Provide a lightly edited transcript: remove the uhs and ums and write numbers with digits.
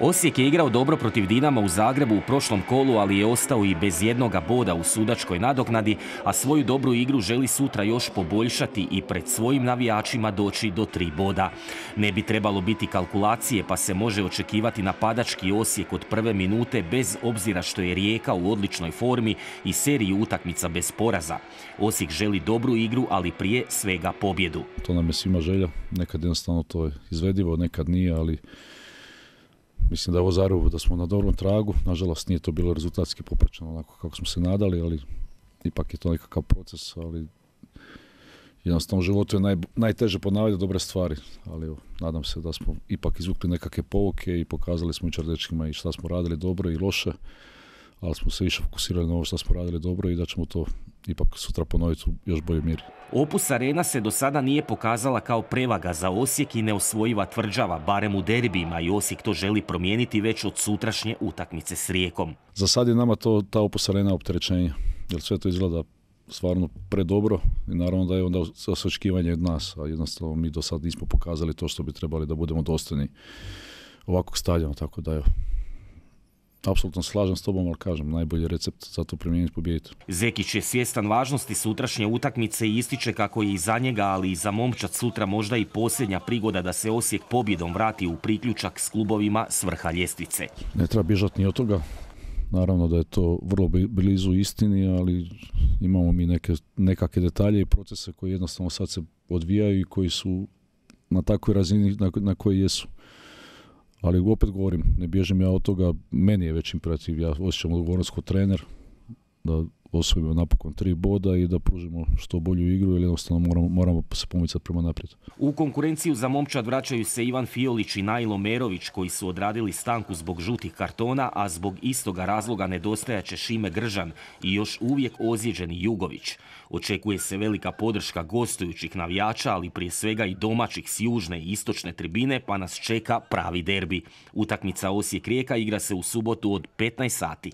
Osijek je igrao dobro protiv Dinama u Zagrebu u prošlom kolu, ali je ostao i bez jednoga boda u sudačkoj nadoknadi, a svoju dobru igru želi sutra još poboljšati i pred svojim navijačima doći do 3 boda. Ne bi trebalo biti kalkulacije, pa se može očekivati napadački Osijek od prve minute, bez obzira što je Rijeka u odličnoj formi i seriji utakmica bez poraza. Osijek želi dobru igru, ali prije svega pobjedu. To nam je svima želja, nekad jednostavno to je izvedivo, nekad nije, ali mislim da je ovo Zagrebu da smo na dobrom tragu. Nažalost nije to bilo rezultatski popraćeno onako kako smo se nadali, ali ipak je to nekakav proces, ali jednostavno u životu je najteže ponavljati dobre stvari, ali evo, nadam se da smo ipak izvukli nekakve pouke i pokazali smo jučer dečkima i šta smo radili dobro i loše, ali smo se više fokusirali na ovo što smo radili dobro i da ćemo to ipak sutra ponoviti u još boljoj mjeri. Opus Arena se do sada nije pokazala kao prevaga za Osijek i neosvojiva tvrđava, barem u derbijima, i Osijek to želi promijeniti već od sutrašnje utakmice s Rijekom. Za sad je nama ta Opus Arena opterećenje, jer sve to izgleda stvarno predobro i naravno da je onda očekivanje od nas, a jednostavno mi do sad nismo pokazali to što bi trebali da budemo dostojni ovakvog stadiona, tako da je apsolutno slažem s tobom, ali kažem, najbolji recept za to primijeniti pobijediti. Zekić je svjestan važnosti sutrašnje utakmice i ističe kako je i za njega, ali i za momčad sutra možda i posljednja prigoda da se Osijek pobjedom vrati u priključak s klubovima s vrha ljestvice. Ne treba bježati ni od toga. Naravno da je to vrlo blizu istini, ali imamo mi nekakve detalje i procese koji jednostavno sad se odvijaju i koji su na takvoj razini na kojoj jesu. Ali opet govorim, ne bježim ja od toga, meni je već imperativ, ja osjećam odgovornost kao trener da osvojimo napokon 3 boda i da pružimo što bolju igru, jer jednostavno moramo se pomicati prema naprijed. U konkurenciju za momčad vraćaju se Ivan Fiolić i Nailo Merović, koji su odradili stanku zbog žutih kartona, a zbog istoga razloga nedostajaće Šime Gržan i još uvijek ozlijeđeni Jugović. Očekuje se velika podrška gostujućih navijača, ali prije svega i domaćih s južne i istočne tribine, pa nas čeka pravi derbi. Utakmica Osijek-Rijeka igra se u subotu od 15 sati.